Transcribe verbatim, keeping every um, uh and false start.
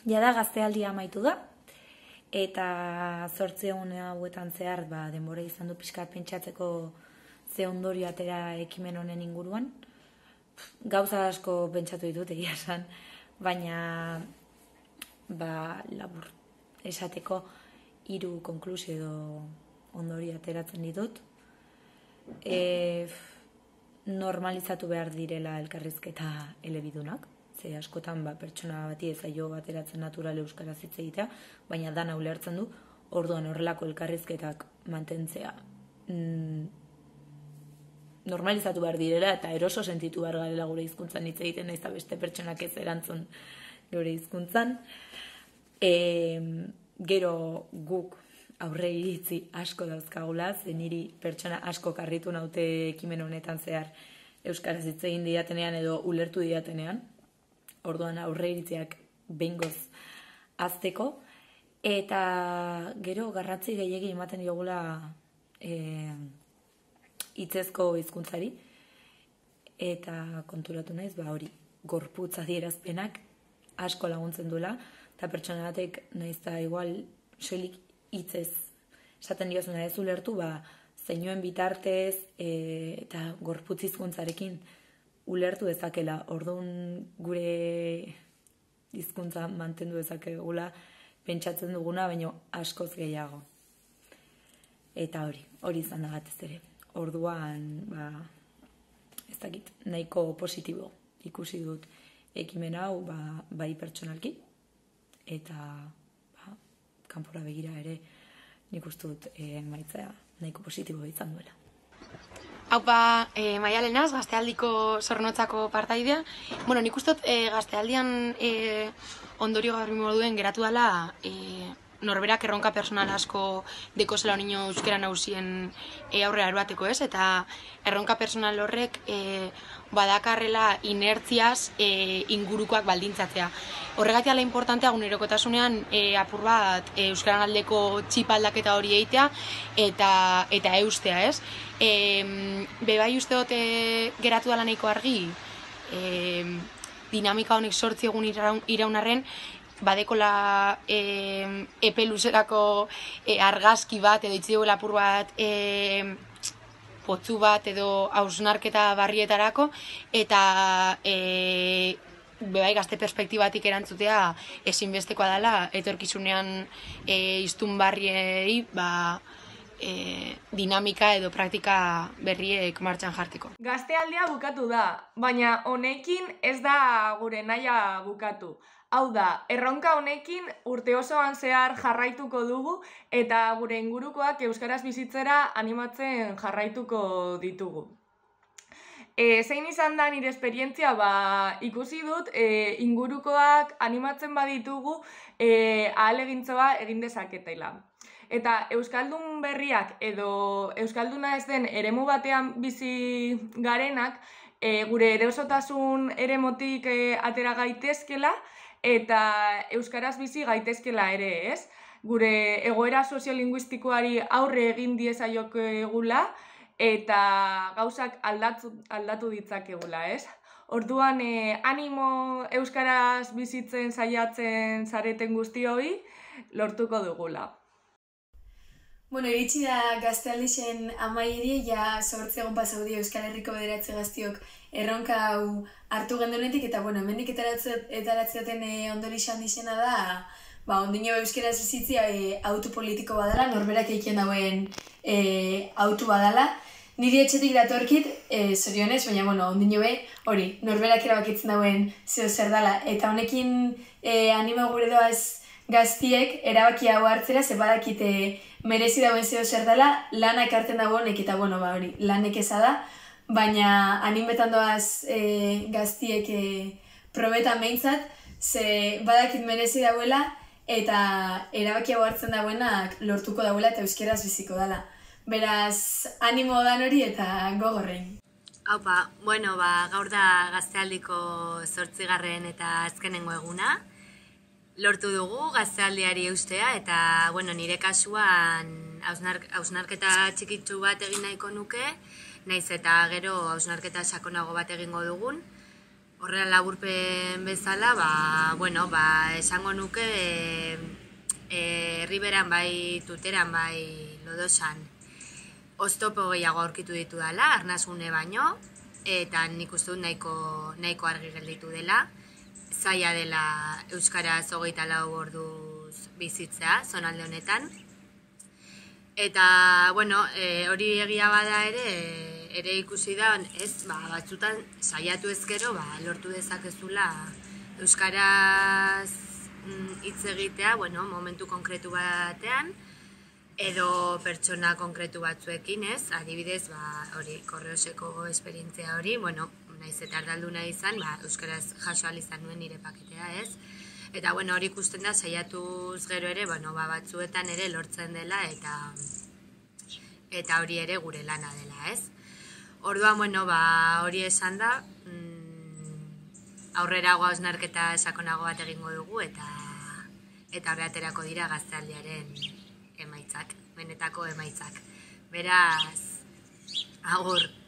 jada gaztealdia amaitu da, eta zortzi egun hauetan zehar ba, denbora izan du pixkat pentsatzeko ze ondorio atera ekimen honen inguruan. Gauza asko pentsatu ditut egia esan, baina ba, labur esateko hiru konklusio edo ondorio ateratzen ditut. E, normalizatu behar direla elkarrizketa elebidunak, ze askotan ba, pertsona bati ez zaio bateratzen natural euskaraz hitz egitea, baina dana ulertzen du, orduan horrelako elkarrizketak mantentzea mm, normalizatu behar direla eta eroso sentitu behar garela gure hizkuntzan hitz egiten, naiz eta beste pertsonak ez erantzun gure hizkuntzan. E, gero guk aurre iritzi asko dauzkagula, ze niri pertsona asko karritu naute ekimen honetan zehar euskaraz hitz egin didatenean edo ulertu didatenean. Orduan aurre iritziak behingoz azteko, eta gero garrantzi gehiegi ematen diogula e, hitzezko hizkuntzari, eta konturatu naiz, ba hori, gorputz adierazpenak asko laguntzen duela, eta pertsona batek naiz eta igual soilik hitzez esaten diozuna ez ulertu, ba zeinuen bitartez e, eta gorputz hizkuntzarekin ulertu dezakela. Orduan gure hizkuntza mantendu dezakegula pentsatzen duguna, baina askoz gehiago. Eta hori, hori izan da batez ere. Orduan, ba, ez dakit, nahiko positibo ikusi dut ekimen hau, ba, bai pertsonalki, eta ba, kanpora begira ere nik uste dut e, maitzea nahiko positibo izan duela. Haupa, e, Maialenaz, gaztealdiko zornotzako partaidea. Bueno, nik uste dut e, gaztealdian e, ondorio garbi moduen geratu dela e, norberak erronka personal asko dekozela niño euskera nausien e, aurrera eroateko, ez? Eta erronka personal horrek e, badakarrela inertziaz e, ingurukoak baldintzatzea. Horregatik ala importantea gunerokotasunean e, apur bat e, euskaran aldeko txip aldaketa hori egitea eta, eta eustea, ez? E, bebai uste dut e, geratu dela nahiko argi, e, dinamika honek sortzi egun iraun, iraunarren, badekola e, epe luzerako e, argazki bat edo itzi duela apur bat e, potzu bat edo hausnarketa barrietarako eta e, bebai gazte perspektibatik erantzutea ezinbestekoa dela etorkizunean e, iztun barriei ba, e, dinamika edo praktika berriek martxan jarteko. Gaztealdia bukatu da, baina honekin ez da gure nahia bukatu. Hau da, erronka honekin urte osoan zehar jarraituko dugu eta gure ingurukoak euskaraz bizitzera animatzen jarraituko ditugu. E, zein izan da nire esperientzia, ba, ikusi dut e, ingurukoak animatzen baditugu e, ahalegintzoa egin dezaketela. Eta euskaldun berriak edo euskalduna ez den eremu batean bizi garenak e, gure erosotasun eremotik e, atera gaitezkela, eta euskaraz bizi gaitezkela ere, ez? Gure egoera soziolinguistikoari aurre egin diezaiokegula eta gauzak aldatu, aldatu ditzakegula, ez? Orduan, eh, animo euskaraz bizitzen saiatzen zareten guztioi lortuko dugula. Bueno, iritsi da gaztealdixen amaierie, ja zortzi egon pasaudio Euskal Herriko bederatzi gaztiok erronka hau hartu gendunetik, eta bueno, hemendik etaratzeaten e, ondorix handixena da, ba, ondino euskeraz bizitzia e, autu politiko badala, norberak eiken dauen e, autu badala. Niri etxetik datorkit, e, zorionez, baina, bueno, ondino be, hori, norberak erabakitzen dauen zeo zer dala, eta honekin e, anima gure doaz gaztiek erabaki hau hartzera, ze badakite merezi dauen zeo zer dela, lana ekarten dago honek, eta bueno, ba hori, lanek eza da, baina animetan doaz e, gaztiek e, probetan behintzat, ze badakit merezi dauela, eta erabaki hau hartzen dagoenak lortuko dauela eta euskeraz biziko dela. Beraz, animo dan hori eta gogorrein. Haupa, bueno, ba, gaur da gaztealdiko zortzigarren eta azkenengo eguna. Lortu dugu gaztealdiari eustea eta, bueno, nire kasuan hausnar, hausnarketa txikitsu bat egin nahiko nuke, naiz eta gero hausnarketa sakonago bat egingo dugun. Horrela laburpen bezala, ba, bueno, ba, esango nuke e, e, herriberan bai tuteran bai lodosan oztopo gehiago aurkitu ditu dela, arnasgune baino, eta nik uste dut nahiko, nahiko argi gelditu dela. Zaila dela euskaraz hogeita lau orduz bizitzea, zonalde honetan. Eta, bueno, e, hori egia bada ere, ere ikusi da, ez, ba, batzutan saiatu ezkero, ba, lortu dezakezula euskaraz hitz egitea, bueno, momentu konkretu batean, edo pertsona konkretu batzuekin, ez, adibidez, ba, hori, korreoseko esperientzia hori, bueno, naiz eta ardalduna izan, ba, euskaraz jaso ahal izan nuen nire paketea, ez? Eta, bueno, hori ikusten da, saiatuz gero ere, bueno, ba, batzuetan ere lortzen dela, eta eta hori ere gure lana dela, ez? Orduan, bueno, ba, hori esan da, mm, aurrerago hausnarketa sakonago bat egingo dugu, eta eta horre aterako dira gaztealdiaren emaitzak, benetako emaitzak. Beraz, agur!